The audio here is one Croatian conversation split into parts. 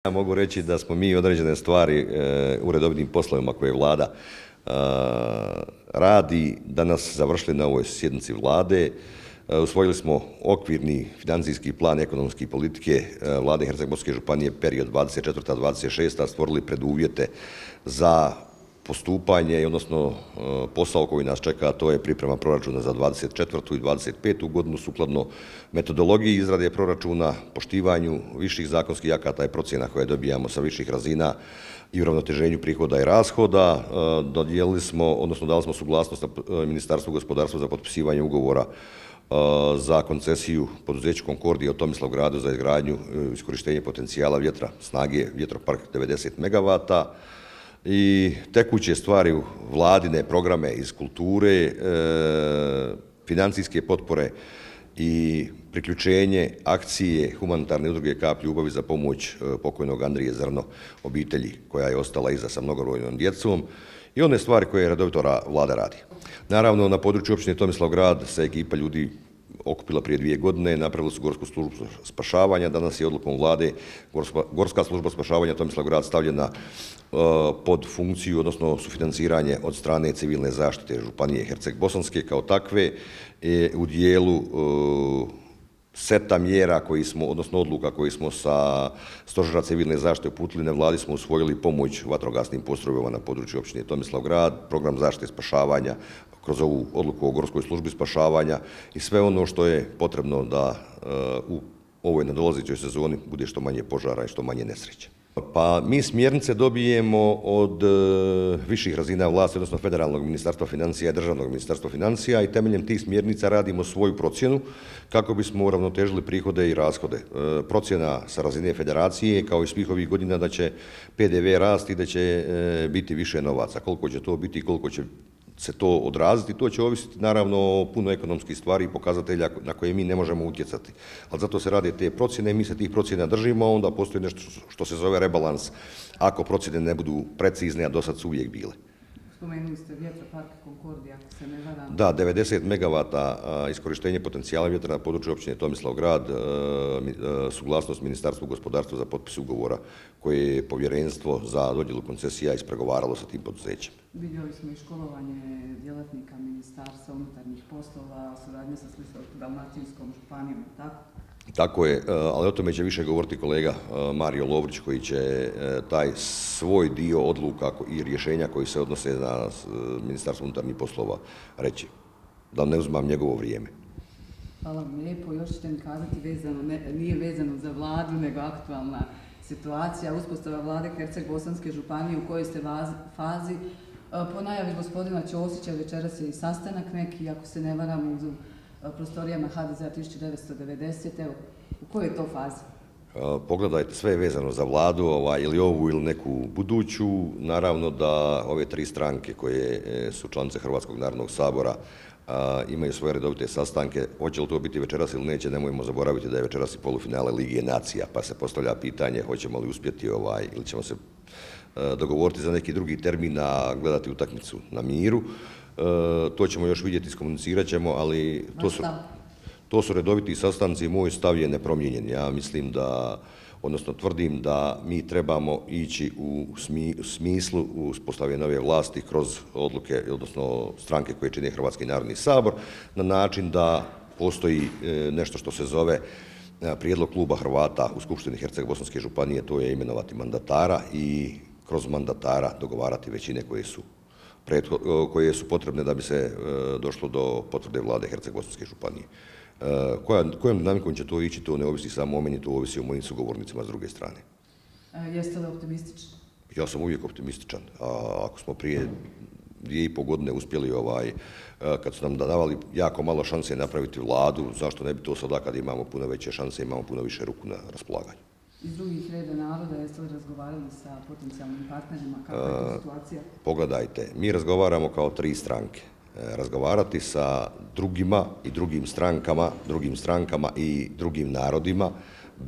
Ja mogu reći da smo mi određene stvari u redovnim poslovima koje Vlada radi danas završili na ovoj sjednici Vlade. Usvojili smo okvirni financijski plan ekonomske politike Vlade Herceg-Bosovske županije period 24-26, stvorili preduvjete za postupanje, odnosno posao koji nas čeka, a to je priprema proračuna za 24. i 25. godinu sukladno metodologiji izrade proračuna, poštivanju viših zakonskih akata i procjena koje dobijamo sa viših razina i uravnoteženju prihoda i rashoda. Dali smo suglasnost Ministarstvu gospodarstva za potpisivanje ugovora za koncesiju poduzeću Concordia u Tomislavgradu za izgradnju i iskorištenje potencijala vjetra snage vjetropark 90 MW i tekuće stvari u vladine programe iz kulture, financijske potpore i priključenje akcije humanitarne udruge Kap ljubavi za pomoć pokojnog Andrije Zrno obitelji koja je ostala iza sa mnogobrojnom djecom i one stvari koje redovito Vlada radi. Naravno, na području općine Tomislavgrad se ekipa ljudi okupila prije 2 godine, napravili su Gorsku službu spašavanja. Danas je odlukom Vlade Gorska služba spašavanja Tomislavgrad stavljena pod funkciju, odnosno sufinanciranje od strane civilne zaštite županije Herceg-Bosanske kao takve u dijelu seta mjera koji smo, odnosno odluka koji smo sa Stožera civilne zaštite uputili na Vladi, smo usvojili pomoć vatrogasnim postrojbama na području općine Tomislavgrad, program zaštite i spašavanja kroz ovu odluku o Gorskoj službi spašavanja i sve ono što je potrebno da u ovoj nadolazećoj sezoni bude što manje požara i što manje nesreća. Pa mi smjernice dobijemo od viših razina vlasti, odnosno Federalnog ministarstva financija i Državnog ministarstva financija i temeljem tih smjernica radimo svoju procjenu kako bismo uravnotežili prihode i rashode. Procjena sa razine federacije kao i svih ovih godina da će PDV rasti i da će biti više novaca. Koliko će to biti i koliko će se to odraziti, to će ovisiti naravno o puno ekonomskih stvari i pokazatelja na koje mi ne možemo utjecati. Ali zato se rade te procjene i mi se tih procjena držimo, a onda postoji nešto što se zove rebalans ako procjene ne budu precizne, a do sad su uvijek bile. Spomenuli ste vjetropark Concordia, ako se ne varam. Da, 90 MW iskorištenje potencijala vjetra na području općine Tomislavgrad, suglasnost Ministarstvu gospodarstva za potpis ugovora koje je povjerenstvo za dodjelu koncesija ispregovaralo sa tim poduzećem. Vidjeli smo i školovanje djelatnika Ministarstva unutarnjih poslova, suradnje sa Splitsko-dalmatinskom županijom, tako? Tako je, ali o tome će više govoriti kolega Mario Lovrić koji će taj svoj dio odluka i rješenja koji se odnose na Ministarstvo unutarnjih poslova reći, da ne uzmam njegovo vrijeme. Hvala vam lijepo. Još ćete mi kazati, nije vezano za Vladu, nego aktualna situacija, uspostava Vlade Herceg-Bosanske županije u kojoj ste fazi. Po najavi gospodina Ćosića večeras je i sastanak neki, ako se ne varam, u prostorijama HDZ-a 1990. Evo, u kojoj je to fazi? Pogledajte, sve je vezano za Vladu, ili ovu ili neku buduću. Naravno da ove 3 stranke koje su članice Hrvatskog narodnog sabora imaju svoje redovite sastanke. Hoće li to biti večeras ili neće, nemojmo zaboraviti da je večeras i polufinale Lige nacija, pa se postavlja pitanje hoćemo li uspjeti ili ćemo se dogovoriti za neki drugi termin, a gledati utakmicu na miru. To ćemo još vidjeti, iskomunicirat ćemo, ali to su redoviti sastanci i moj stav je nepromijenjen. Ja mislim da, odnosno tvrdim da mi trebamo ići u smislu uspostavljanja nove vlasti kroz odluke, odnosno stranke koje čine Hrvatski narodni sabor, na način da postoji nešto što se zove prijedlog kluba Hrvata u Skupštini Herceg-Bosanske županije, to je imenovati mandatara i kroz mandatara dogovarati većine koje su potrebne da bi se došlo do potvrde Vlade Herceg-Bosanske županije. Kojom dinamikom će to ići, to ne ovisi samo o meni, to ovisi o mojim sugovornicima s druge strane. Jeste li optimistični? Ja sam uvijek optimističan. Ako smo prije 2,5 godine uspjeli, kad su nam davali jako malo šanse napraviti Vladu, zašto ne bi to sada kad imamo puno veće šanse, imamo puno više ruku na raspolaganju. Iz drugih reda naroda jeste li razgovarali sa potencijalnim partnerima, kakva je to situacija? Pogledajte, mi razgovaramo kao 3 stranke. Razgovarati sa drugima i drugim strankama i drugim narodima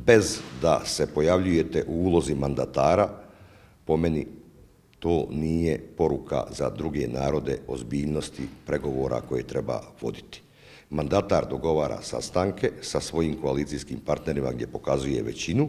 bez da se pojavljujete u ulozi mandatara, po meni to nije poruka za druge narode ozbiljnosti pregovora koje treba voditi. Mandatar dogovara sastanke sa svojim koalicijskim partnerima gdje pokazuje većinu,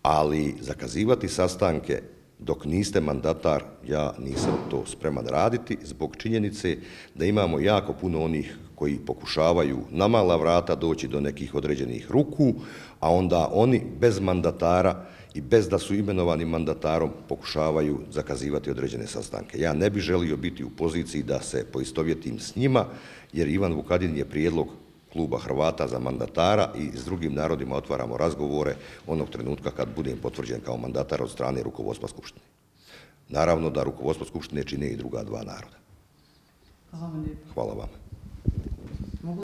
ali zakazivati sastanke dok niste mandatar, ja nisam to spreman raditi zbog činjenice da imamo jako puno onih koji pokušavaju na mala vrata doći do nekih određenih ruku, a onda oni bez mandatara i bez da su imenovani mandatarom pokušavaju zakazivati određene sastanke. Ja ne bih želio biti u poziciji da se poistovjetim s njima, jer Ivan Vukadin je prijedlog Kluba Hrvata za mandatara i s drugim narodima otvaramo razgovore onog trenutka kad budem potvrđen kao mandatar od strane rukovodstva Skupštine. Naravno da rukovodstvo Skupštine čine i druga dva naroda. Hvala vam lijepo. Hvala vam.